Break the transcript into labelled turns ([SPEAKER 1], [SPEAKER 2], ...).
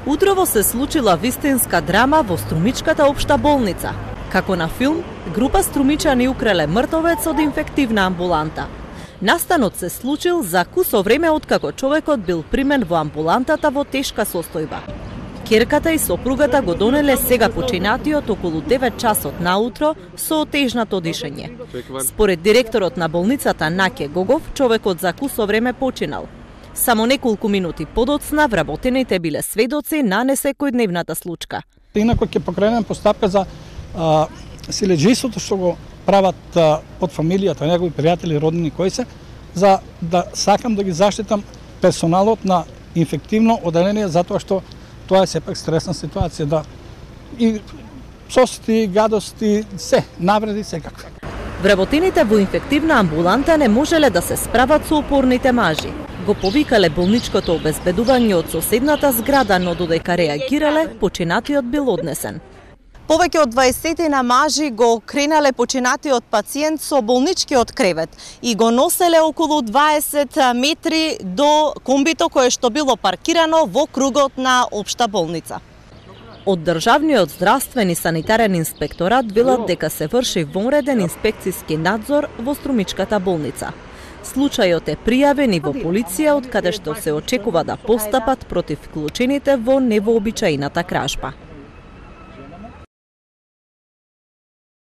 [SPEAKER 1] Утрово се случила вистинска драма во Струмичката општа болница. Како на филм, група струмичани украле мртовец од инфективна амбуланта. Настанот се случил за кусо време откако човекот бил примен во амбулантата во тешка состојба. Ќерката и сопругата го донеле сега починатиот околу 9 часот наутро со отежнато дишење. Според директорот на болницата Наке Гогов, човекот за кусо време починал. Само неколку минути подоцна вработените биле сведоци на несекојдневната случка.
[SPEAKER 2] Инако ќе покренем постапка за силеџиството што го прават под фамилијата, негови пријатели, роднини кои се, за да сакам да ги заштитам персоналот на инфективно оделение, затоа што тоа е сепак стресна ситуација, да и сости, гадости, се, навреди секакви.
[SPEAKER 1] Вработените во инфективна амбуланта не можеле да се справат со упорните мажи. Го повикале болничкото обезбедување од соседната зграда, но додека реагирале, починатиот бил однесен.
[SPEAKER 3] Повеќе од 20 мажи го кренале починатиот пациент со болничкиот кревет и го носеле околу 20 метри до комбито кое што било паркирано во кругот на општа болница.
[SPEAKER 1] Од Државниот здравствен и санитарен инспекторат велат дека се врши вонреден инспекциски надзор во Струмичката болница. Случајот е пријавен и во полиција, од каде што се очекува да постапат против вклучените во невообичаената кражба.